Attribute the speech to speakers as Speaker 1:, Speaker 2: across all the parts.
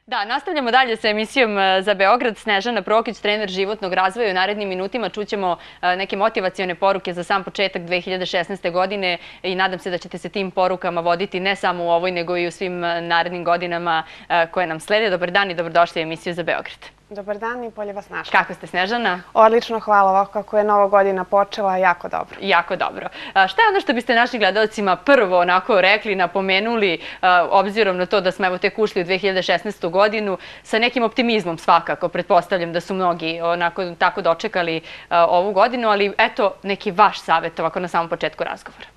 Speaker 1: Da, nastavljamo dalje sa emisijom za Beograd. Snežana Prokić, trener životnog razvoja. U narednim minutima čućemo neke motivacione poruke za sam početak 2016. godine i nadam se da ćete se tim porukama voditi ne samo u ovoj, nego i u svim narednim godinama koje nam slede. Dobar dan i dobrodošli u emisiju za Beograd.
Speaker 2: Dobar dan i bolje vas našla.
Speaker 1: Kako ste, Snežana?
Speaker 2: Odlično, hvala. Ovako kako je nova godina počela, jako dobro.
Speaker 1: Jako dobro. Šta je ono što biste našim gledalcima prvo onako rekli, napomenuli, obzirom na to da smo evo tek ušli u 2016. godinu, sa nekim optimizmom svakako, pretpostavljam da su mnogi onako tako dočekali ovu godinu, ali eto neki vaš savjet ovako na samom početku razgovora.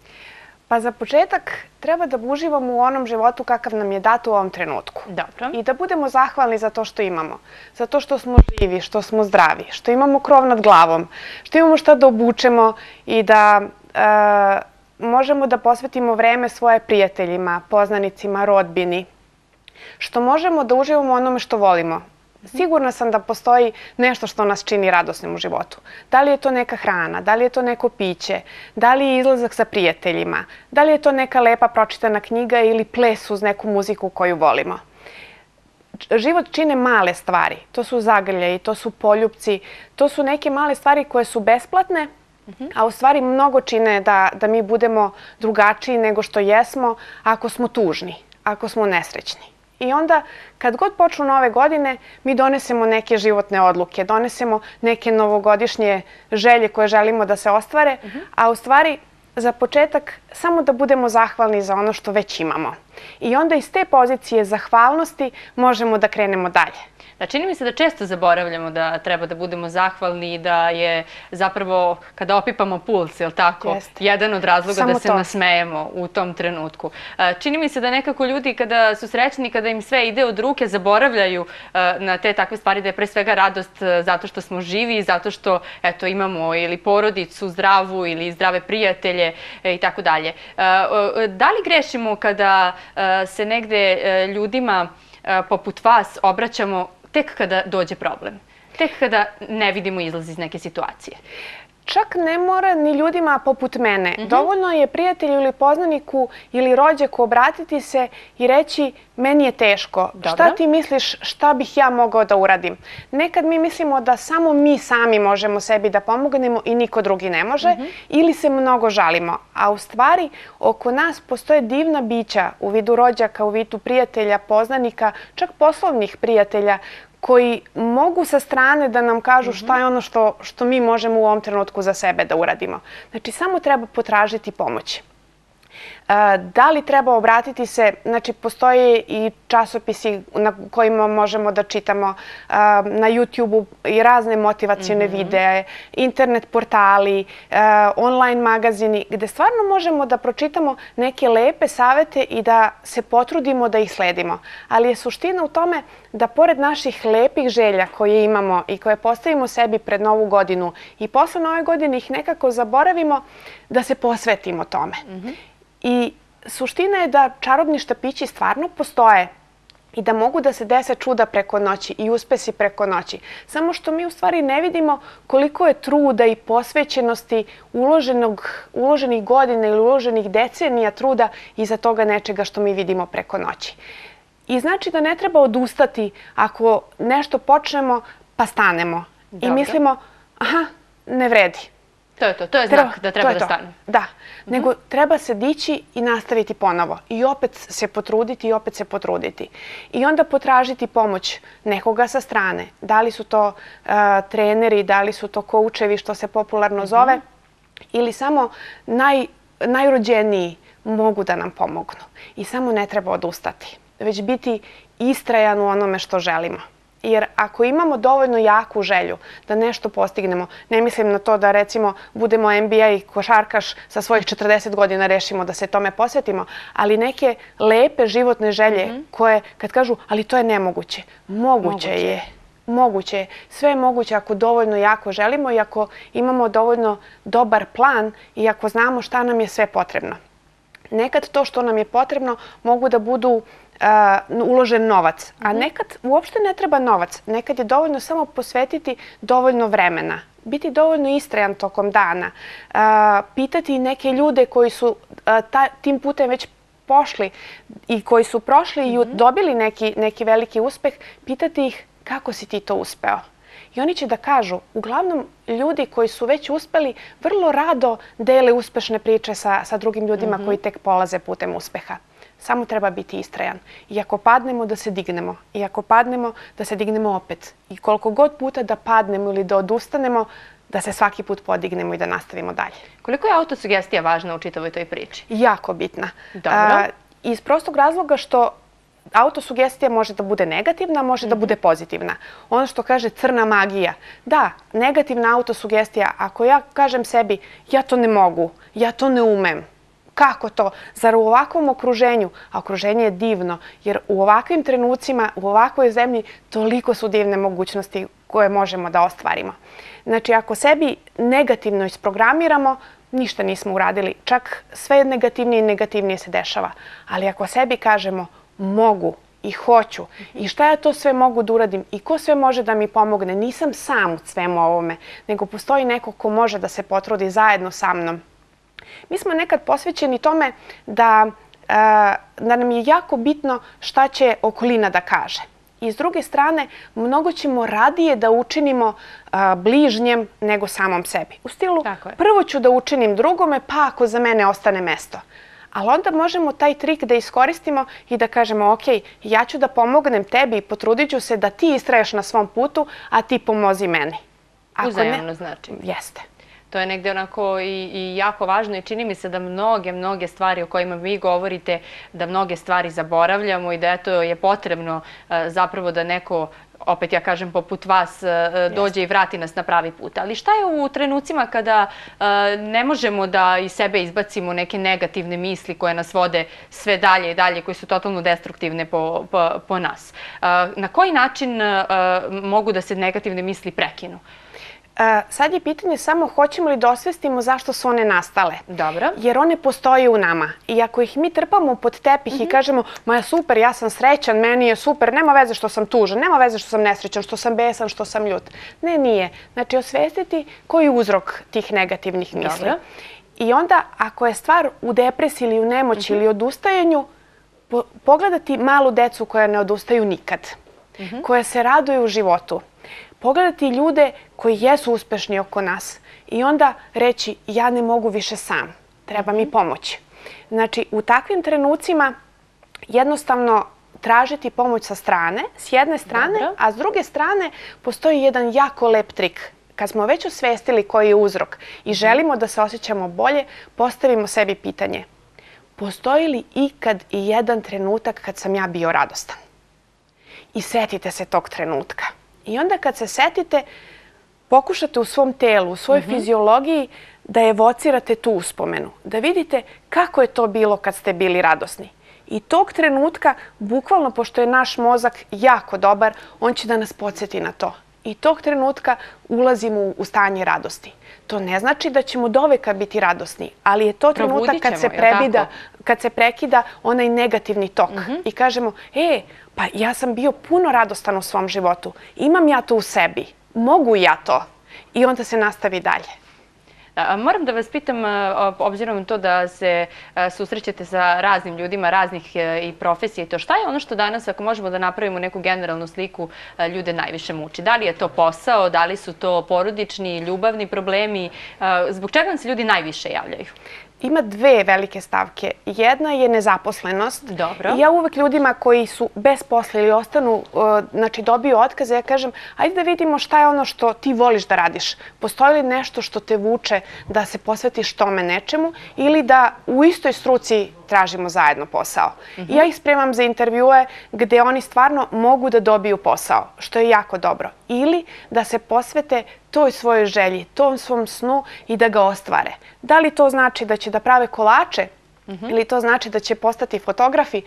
Speaker 2: Pa za početak treba da uživamo u onom životu kakav nam je dat u ovom trenutku.
Speaker 1: Dobro.
Speaker 2: I da budemo zahvalni za to što imamo. Za to što smo živi, što smo zdravi, što imamo krov nad glavom, što imamo šta da obučemo i da možemo da posvetimo vreme svoje prijateljima, poznanicima, rodbini. Što možemo da uživamo u onome što volimo. Sigurna sam da postoji nešto što nas čini radosnim u životu. Da li je to neka hrana, da li je to neko piće, da li je izlazak sa prijateljima, da li je to neka lepa pročitana knjiga ili ples uz neku muziku koju volimo. Život čine male stvari. To su zagrljaji, to su poljupci, to su neke male stvari koje su besplatne, a u stvari mnogo čine da mi budemo drugačiji nego što jesmo ako smo tužni, ako smo nesrećni. I onda, kad god počnu nove godine, mi donesemo neke životne odluke, donesemo neke novogodišnje želje koje želimo da se ostvare, a u stvari, za početak, samo da budemo zahvalni za ono što već imamo. I onda iz te pozicije zahvalnosti možemo da krenemo dalje.
Speaker 1: Da, čini mi se da često zaboravljamo da treba da budemo zahvalni i da je zapravo kada opipamo puls, je li tako, jedan od razloga da se nasmejemo u tom trenutku. Čini mi se da nekako ljudi kada su srećni, kada im sve ide od ruke, zaboravljaju na te takve stvari, da je pre svega radost zato što smo živi i zato što eto, imamo ili porodicu zdravu ili zdrave prijatelje i tako dalje. Da li grešimo kada se negde ljudima poput vas obraćamo tek kada dođe problem, tek kada ne vidimo izlaz iz neke situacije?
Speaker 2: Čak ne mora ni ljudima poput mene. Dovoljno je prijatelju ili poznaniku ili rođaku obratiti se i reći meni je teško. Šta ti misliš, šta bih ja mogao da uradim? Nekad mi mislimo da samo mi sami možemo sebi da pomognemo i niko drugi ne može ili se mnogo žalimo. A u stvari oko nas postoje divna bića u vidu rođaka, u vidu prijatelja, poznanika, čak poslovnih prijatelja koji mogu sa strane da nam kažu šta je ono što mi možemo u ovom trenutku za sebe da uradimo. Znači, samo treba potražiti pomoć. Da li treba obratiti se, znači postoje i časopisi na kojima možemo da čitamo na YouTube-u i razne motivacione videe, internet portali, online magazini, gde stvarno možemo da pročitamo neke lepe savete i da se potrudimo da ih sledimo. Ali je suština u tome da pored naših lepih želja koje imamo i koje postavimo sebi pred Novu godinu i posle Nove godine ih nekako zaboravimo, da se posvetimo tome. I suština je da čarobni štapići stvarno postoje i da mogu da se dese čuda preko noći i uspesi preko noći. Samo što mi u stvari ne vidimo koliko je truda i posvećenosti uloženih godina ili uloženih decenija truda iza toga nečega što mi vidimo preko noći. I znači da ne treba odustati ako nešto počnemo pa stanemo i mislimo aha, ne vredi.
Speaker 1: To je znak da treba da stane.
Speaker 2: Da, nego treba se dići i nastaviti ponovo. I opet se potruditi i opet se potruditi. I onda potražiti pomoć nekoga sa strane. Da li su to treneri, da li su to koučevi, što se popularno zove, ili samo najrođeniji mogu da nam pomognu. I samo ne treba odustati, već biti istrajan u onome što želimo. Jer ako imamo dovoljno jaku želju da nešto postignemo, ne mislim na to da recimo budemo NBA i košarkaš sa svojih 40 godina rešimo da se tome posvetimo, ali neke lepe životne želje koje kad kažu ali to je nemoguće, moguće je. Moguće je. Sve je moguće ako dovoljno jako želimo i ako imamo dovoljno dobar plan i ako znamo šta nam je sve potrebno. Nekad to što nam je potrebno mogu da budu uložen novac, a nekad uopšte ne treba novac. Nekad je dovoljno samo posvetiti dovoljno vremena, biti dovoljno istrajan tokom dana, pitati neke ljude koji su tim putem već pošli i koji su prošli i dobili neki veliki uspeh, pitati ih kako si ti to uspeo. I oni će da kažu, uglavnom ljudi koji su već uspeli vrlo rado dele uspešne priče sa drugim ljudima koji tek polaze putem uspeha. Samo treba biti istrajan. I ako padnemo, da se dignemo. I ako padnemo, da se dignemo opet. I koliko god puta da padnemo ili da odustanemo, da se svaki put podignemo i da nastavimo dalje.
Speaker 1: Koliko je autosugestija važna u čitavoj toj priči?
Speaker 2: Jako bitna.
Speaker 1: Dobro.
Speaker 2: Iz prostog razloga što autosugestija može da bude negativna, može da bude pozitivna. Ono što kaže crna magija. Da, negativna autosugestija, ako ja kažem sebi ja to ne mogu, ja to ne umem, kako to? Zar u ovakvom okruženju, a okruženje je divno, jer u ovakvim trenucima, u ovakvoj zemlji, toliko su divne mogućnosti koje možemo da ostvarimo. Znači, ako sebi negativno isprogramiramo, ništa nismo uradili. Čak sve negativnije i negativnije se dešava. Ali ako sebi kažemo mogu i hoću i šta ja to sve mogu da uradim i ko sve može da mi pomogne, nisam sam u svemu ovome, nego postoji neko ko može da se potrudi zajedno sa mnom. Mi smo nekad posvećeni tome da nam je jako bitno šta će okolina da kaže. I s druge strane, mnogo ćemo radije da učinimo bližnjem nego samom sebi. U stilu, prvo ću da učinim drugome, pa ako za mene ostane mesto. Ali onda možemo taj trik da iskoristimo i da kažemo, ok, ja ću da pomognem tebi i potrudit ću se da ti istraješ na svom putu, a ti pomozi meni.
Speaker 1: Uzajamno znači.
Speaker 2: Jeste.
Speaker 1: To je negde onako i jako važno i čini mi se da mnoge stvari o kojima vi govorite, da mnoge stvari zaboravljamo i da eto je potrebno zapravo da neko, opet ja kažem poput vas, dođe i vrati nas na pravi put. Ali šta je u trenucima kada ne možemo da iz sebe izbacimo neke negativne misli koje nas vode sve dalje i dalje, koje su totalno destruktivne po nas? Na koji način mogu da se negativne misli prekinu?
Speaker 2: Sad je pitanje samo hoćemo li da osvestimo zašto su one nastale.
Speaker 1: Dobro.
Speaker 2: Jer one postoje u nama. I ako ih mi trpamo pod tepih i kažemo ma je super, ja sam srećan, meni je super, nema veze što sam tužan, nema veze što sam nesrećan, što sam besan, što sam ljut. Ne, nije. Znači osvestiti koji je uzrok tih negativnih misli.
Speaker 1: Dobro.
Speaker 2: I onda ako je stvar u depresiji ili u nemoći ili odustajanju, pogledati malu decu koja ne odustaju nikad. Koja se raduju u životu. Pogledati ljude koji jesu uspešni oko nas i onda reći ja ne mogu više sam, treba mi pomoć. Znači, u takvim trenucima jednostavno tražiti pomoć sa strane, s jedne strane, a s druge strane postoji jedan jako lep trik. Kad smo već osvestili koji je uzrok i želimo da se osjećamo bolje, postavimo sebi pitanje. Postoji li ikad i jedan trenutak kad sam ja bio radostan? I setite se tog trenutka. I onda kad se setite, pokušate u svom telu, u svojoj fiziologiji da evocirate tu uspomenu. Da vidite kako je to bilo kad ste bili radosni. I tog trenutka, bukvalno, pošto je naš mozak jako dobar, on će da nas podsjeti na to. I tog trenutka ulazimo u stanje radosti. To ne znači da ćemo doveka biti radosni, ali je to trenutak kad se prekida onaj negativni tok. I kažemo, pa ja sam bio puno radostan u svom životu. Imam ja to u sebi. Mogu ja to. I onda se nastavi dalje.
Speaker 1: Moram da vas pitam, obzirom na to da se susrećete sa raznim ljudima, raznih i profesija i to, šta je ono što danas, ako možemo da napravimo neku generalnu sliku, ljude najviše muči? Da li je to posao, da li su to porodični, ljubavni problemi? Zbog čega vam se ljudi najviše javljaju?
Speaker 2: Ima dve velike stavke. Jedna je nezaposlenost.
Speaker 1: Dobro.
Speaker 2: Ja uvek ljudima koji su bez posla ili ostanu, znači dobiju otkaze, ja kažem, ajde da vidimo šta je ono što ti voliš da radiš. Postoji li nešto što te vuče da se posvetiš tome nečemu ili da u istoj struci tražimo zajedno posao. I ja ih spremam za intervjue gde oni stvarno mogu da dobiju posao, što je jako dobro. Ili da se posvete toj svojoj želji, tom svom snu i da ga ostvare. Da li to znači da će da prave kolače ili to znači da će postati fotografi?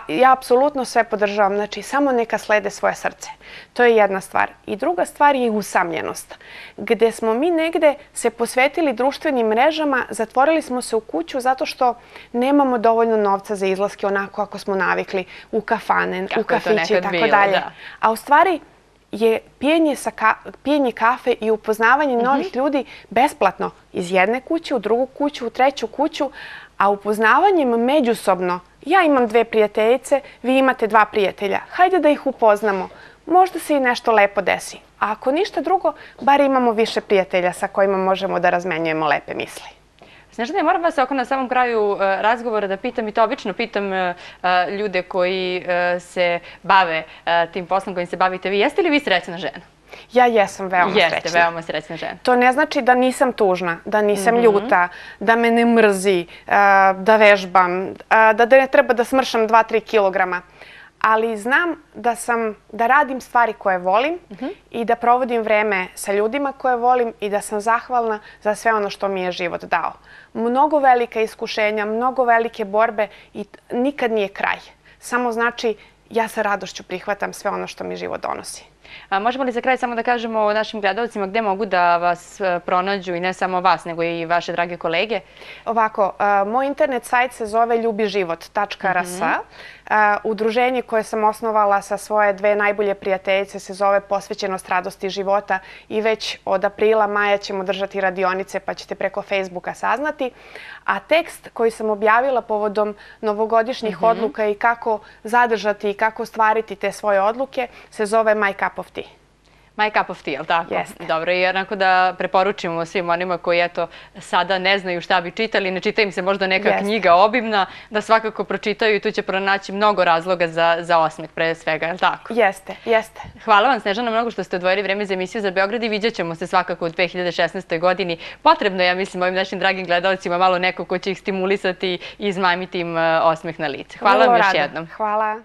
Speaker 2: Ja apsolutno sve podržavam. Znači, samo neka slede svoje srce. To je jedna stvar. I druga stvar je usamljenost. Gde smo mi negde se posvetili društvenim mrežama, zatvorili smo se u kuću zato što nemamo dovoljno novca za izlaske onako ako smo navikli u kafane, u kafići i tako dalje. A u stvari je pijenje kafe i upoznavanje novih ljudi besplatno iz jedne kuće u drugu kuću, u treću kuću, a upoznavanjem međusobno ja imam 2 prijateljice, vi imate 2 prijatelja. Hajde da ih upoznamo. Možda se i nešto lepo desi. A ako ništa drugo, bar imamo više prijatelja sa kojima možemo da razmenjujemo lepe misli.
Speaker 1: Snežana, moram vas oko na samom kraju razgovora da pitam, i to obično pitam ljude koji se bave tim poslom kojim se bavite vi. Jeste li vi srećna žena?
Speaker 2: Ja jesam veoma srećna.
Speaker 1: Jeste veoma srećna žena.
Speaker 2: To ne znači da nisam tužna, da nisam ljuta, da me ne mrzi, da vežbam, da ne treba da smršam 2-3 kilograma. Ali znam da radim stvari koje volim i da provodim vreme sa ljudima koje volim i da sam zahvalna za sve ono što mi je život dao. Mnogo velika iskušenja, mnogo velike borbe i nikad nije kraj. Samo znači ja sa radošću prihvatam sve ono što mi život donosi.
Speaker 1: Možemo li za kraj samo da kažemo našim gledalcima gde mogu da vas pronađu i ne samo vas, nego i vaše drage kolege?
Speaker 2: Ovako, moj internet sajt se zove ljubiživot.rs. Udruženje koje sam osnovala sa svoje 2 najbolje prijateljice se zove Posvećenost radosti života i već od aprila, maja ćemo držati radionice pa ćete preko Facebooka saznati. A tekst koji sam objavila povodom novogodišnjih odluka i kako zadržati i kako ostvariti te svoje odluke se zove My Cup of Tea.
Speaker 1: My Cup of Tea, ali tako?
Speaker 2: Jeste.
Speaker 1: Dobro, i jednako da preporučimo svim onima koji sada ne znaju šta bi čitali, ne čita im se možda neka knjiga obimna, da svakako pročitaju i tu će pronaći mnogo razloga za osmeh pre svega, je li tako?
Speaker 2: Jeste, jeste.
Speaker 1: Hvala vam, Snežana, mnogo što ste odvojili vreme za emisiju za Beograd i vidjet ćemo se svakako u 2016. godini. Potrebno je, ja mislim, ovim našim dragim gledalcima malo neko ko će ih stimulisati i izmamiti im osmeh na lice. Hvala vam još jednom.
Speaker 2: Hvala.